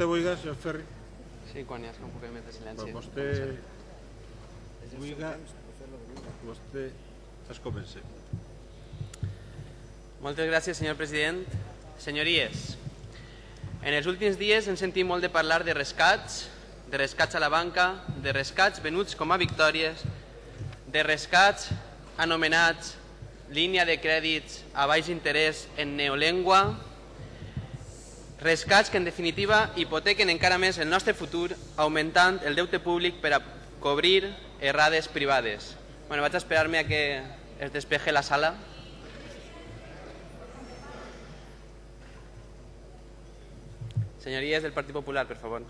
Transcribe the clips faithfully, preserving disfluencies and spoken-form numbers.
vostè vulgui, senyor Ferri. Sí, quan hi ha un poquet més de silenci. Quan vostè vulgui, vostè es comença. Moltes gràcies, senyor president. Senyories, en els últims dies hem sentit molt de parlar de rescats, de rescats a la banca, de rescats venuts com a victòries, de rescats anomenats línia de crèdits a baix interès en neolengua, rescats que en definitiva hipotequen encara més el nostre futur augmentant el deute públic per a cobrir errades privades. Bueno, vaig a esperar-me a que es despeje la sala. Señorías del Partido Popular, por favor.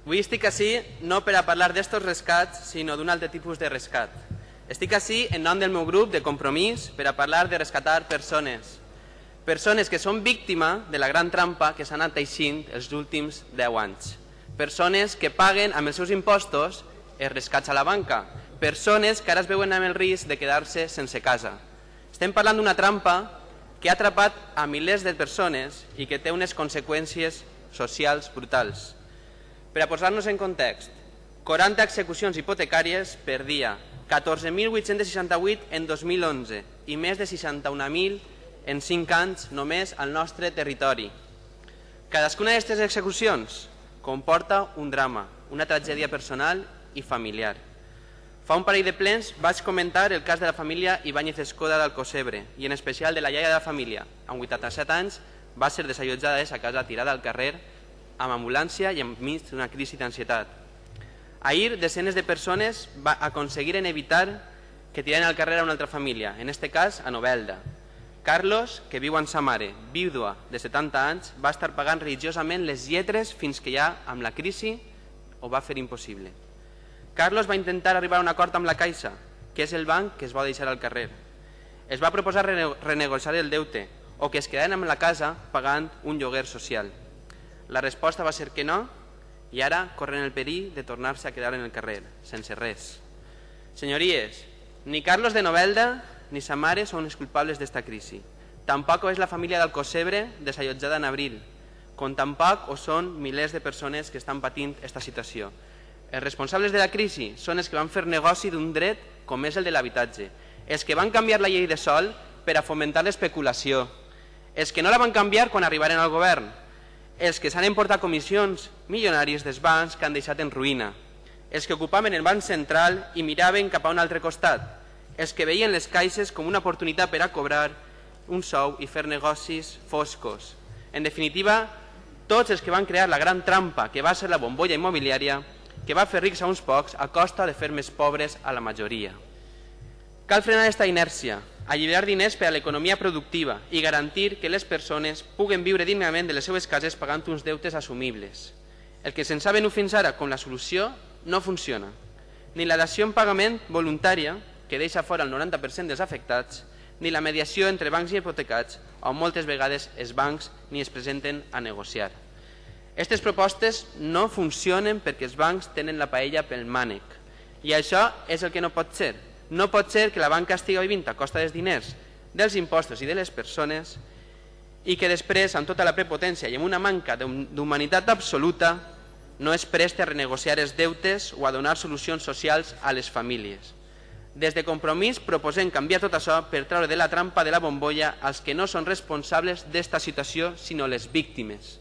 Avui estic així no per a parlar d'estos rescats, sinó d'un altre tipus de rescat. Estic així en nom del meu grup de Compromís per a parlar de rescatar persones. Persones que són víctima de la gran trampa que s'ha anat teixint els últims deu anys. Persones que paguen amb els seus impostos els rescats a la banca. Persones que ara es veuen amb el risc de quedar-se sense casa. Estem parlant d'una trampa que ha atrapat a milers de persones i que té unes conseqüències socials brutals. Per a posar-nos en context, quaranta execucions hipotecàries per dia, catorze mil vuit-cents seixanta-vuit en dos mil onze i més de seixanta-un mil en cinc anys només al nostre territori. Cadascuna d'aquestes execucions comporta un drama, una tragèdia personal i familiar. Fa un parell de plens vaig comentar el cas de la família Ibáñez Escoda d'Alcocebre i en especial de la iaia de la família. Amb vuitanta-set anys va ser desallotjada de sa casa tirada al carrer amb ambulància i enmig d'una crisi d'ansietat. Ahir, desenes de persones aconseguiren evitar que tiraren al carrer a una altra família, en este cas a Novelda. Carlos, que viu amb sa mare, vídua de setanta anys, va estar pagant religiosament les lletres fins que ja, amb la crisi, ho va fer impossible. Carlos va intentar arribar a un acord amb la Caixa, que és el banc que es va deixar al carrer. Es va proposar renegociar el deute o que es quedaren amb la casa pagant un lloguer social. La resposta va ser que no i ara corren el perill de tornar-se a quedar en el carrer, sense res. Senyories, ni Carlos de Novelda ni sa mare són els culpables d'esta crisi. Tampoc és la família d'Alcocebre desallotjada en abril, com tampoc ho són milers de persones que estan patint aquesta situació. Els responsables de la crisi són els que van fer negoci d'un dret com és el de l'habitatge, els que van canviar la llei de sòl per a fomentar l'especulació, els que no la van canviar quan arribaren al govern, els que s'han emportat comissions milionàries dels bancs que han deixat en ruïna, els que ocupaven el banc central i miraven cap a un altre costat, els que veien les caixes com una oportunitat per a cobrar un sou i fer negocis foscos. En definitiva, tots els que van crear la gran trampa que va ser la bombolla immobiliària que va fer rics a uns pocs a costa de fer més pobres a la majoria. Cal frenar aquesta inèrcia, alliberar diners per a l'economia productiva i garantir que les persones puguen viure dignament de les seues cases pagant uns deutes assumibles. El que se'ns ha venut fins ara com la solució no funciona. Ni la dació en pagament voluntària, que deixa fora el noranta per cent dels afectats, ni la mediació entre bancs i hipotecats, on moltes vegades els bancs ni es presenten a negociar. Aquestes propostes no funcionen perquè els bancs tenen la paella pel mànec. I això és el que no pot ser. No pot ser que la banca estigui vivint a costa dels diners, dels impostos i de les persones i que després, amb tota la prepotència i amb una manca d'humanitat absoluta, no es preste a renegociar els deutes o a donar solucions socials a les famílies. Des de Compromís proposem canviar tot això per treure de la trampa de la bombolla els que no són responsables d'esta situació, sinó les víctimes.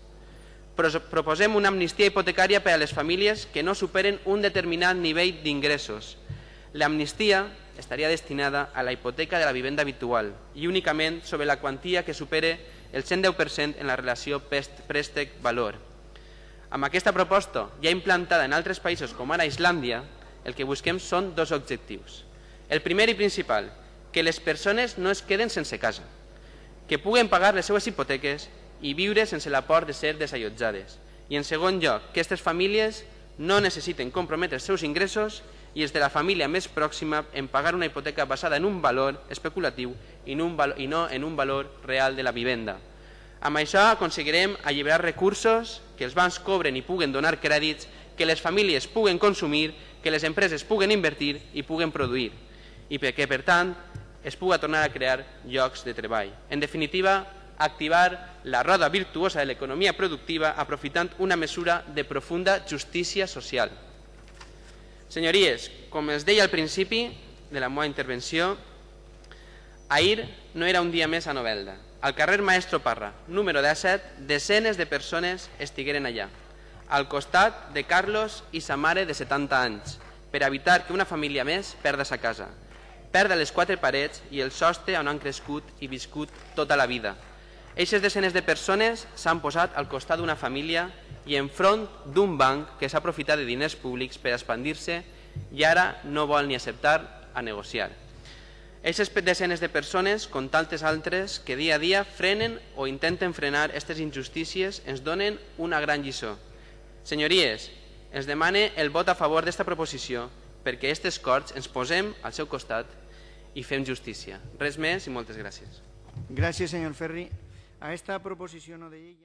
Proposem una amnistia hipotecària per a les famílies que no superen un determinat nivell d'ingressos. L'amnistia estaria destinada a la hipoteca de la vivenda habitual i únicament sobre la quantia que supere el cent deu per cent en la relació préstec-valor. Amb aquesta proposta, ja implantada en altres països com ara Islàndia, el que busquem són dos objectius. El primer i principal, que les persones no es queden sense casa, que puguen pagar les seues hipoteques i viure sense la por de ser desallotjades. I en segon lloc, que aquestes famílies no necessiten comprometre els seus ingressos i els de la família més pròxima en pagar una hipoteca basada en un valor especulatiu i no en un valor real de la vivenda. Amb això aconseguirem alliberar recursos, que els bancs cobren i puguen donar crèdits, que les famílies puguen consumir, que les empreses puguen invertir i puguen produir. I perquè, per tant, es puga tornar a crear llocs de treball. En definitiva, activar la roda virtuosa de l'economia productiva aprofitant una mesura de profunda justícia social. Senyories, com els deia al principi de la meva intervenció, ahir no era un dia més a Novelda. Al carrer Maestro Parra, número disset, desenes de persones estigueren allà, al costat de Carlos i sa mare de setanta anys, per evitar que una família més perda sa casa, perda les quatre parets i el sostre on han crescut i viscut tota la vida. Eixes desenes de persones s'han posat al costat d'una família i enfront d'un banc que s'ha aprofitat de diners públics per expandir-se i ara no vol ni acceptar a negociar. Eixes desenes de persones, com tantes altres, que dia a dia frenen o intenten frenar aquestes injustícies, ens donen una gran lliçó. Senyories, ens demane el vot a favor d'esta proposició perquè aquestes corts ens posem al seu costat i fem justícia. Res més i moltes gràcies. Gràcies, senyor Ferri. A esta proposició no de llei...